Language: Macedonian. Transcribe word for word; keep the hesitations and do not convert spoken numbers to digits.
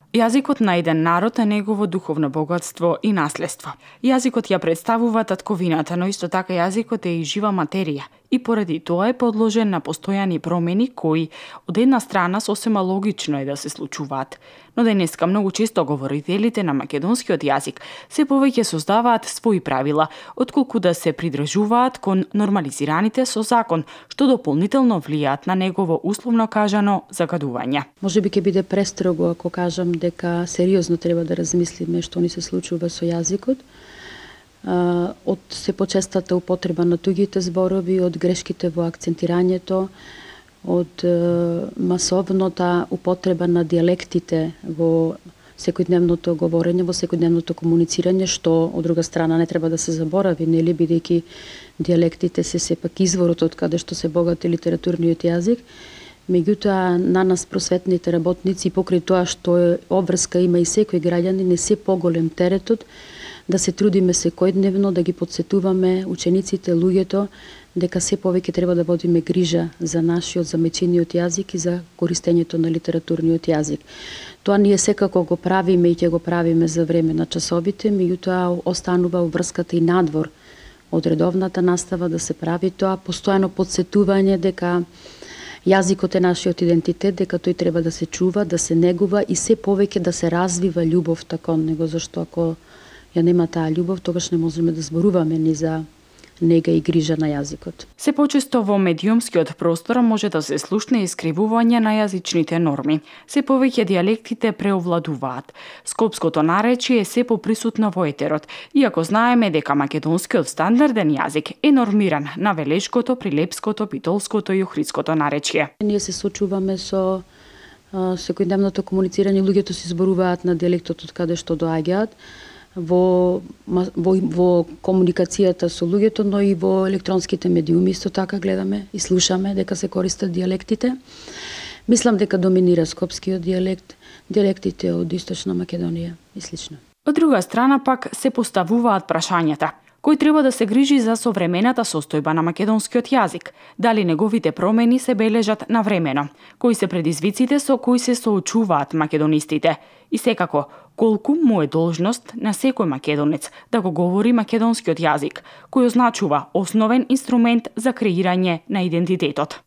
Јазикот на еден народ е негово духовно богатство и наследство. Јазикот ја представува татковината, но исто така јазикот е и жива материја и поради тоа е подложен на постојани промени кои од една страна сосема логично е да се случуваат. Но денеска многу често говорителите на македонскиот јазик се повеќе создаваат своји правила, отколку да се придржуваат кон нормализираните со закон, што дополнително влијаат на негово условно кажано загадување. Може би ќе биде престрого ако кажам дека сериозно треба да размислиме што ни се случува со јазикот. Од се почестата употреба на туѓите зборови, од грешките во акцентирањето, од масовната употреба на дијалектите во секојдневното говорење, во секојдневното комуницирање, што од друга страна не треба да се заборави, нели, бидејќи дијалектите се сепак изворот од каде што се богати литературниот јазик. Меѓутоа, на нас просветните работници, покрај тоа што обврска има и секој граѓанин, е се поголем теретот да се трудиме секојдневно, да ги подсетуваме учениците, луѓето, дека се повеќе треба да водиме грижа за нашиот замечениот јазик и за користењето на литературниот јазик. Тоа ние секако го правиме и ќе го правиме за време на часовите, меѓутоа останува врската и надвор од редовната настава да се прави тоа, постојано подсетување дека јазикот е нашиот идентитет, дека тој треба да се чува, да се негува и се повеќе да се развива љубовта кон него, зашто ако ја нема таа љубов, тогаш не можеме да зборуваме ни за нега и грижа на јазикот. Се почесто во медиумскиот простор може да се слушне искривување на јазичните норми. Се повеќе дијалектите преовладуваат. Скопското наречие е се поприсутно во етерот, иако знаеме дека македонскиот стандарден јазик е нормиран на велешкото, прилепското, битолското и охридското наречие. Ние се сочуваме со секојдневното комуницирање, луѓето се зборуваат на дијалектот од каде што доаѓаат. Во, во, во комуникацијата со луѓето, но и во електронските медиуми исто така гледаме и слушаме дека се користат дијалектите. Мислам дека доминира скопскиот дијалект, дијалектите од Источна Македонија и слично. Од друга страна пак се поставуваат прашањата. Кој треба да се грижи за современата состојба на македонскиот јазик? Дали неговите промени се бележат навремено? Кои се предизвиците со кои се соочуваат македонистите? И секако, колку му е должност на секој македонец да го говори македонскиот јазик, кој означува основен инструмент за креирање на идентитетот?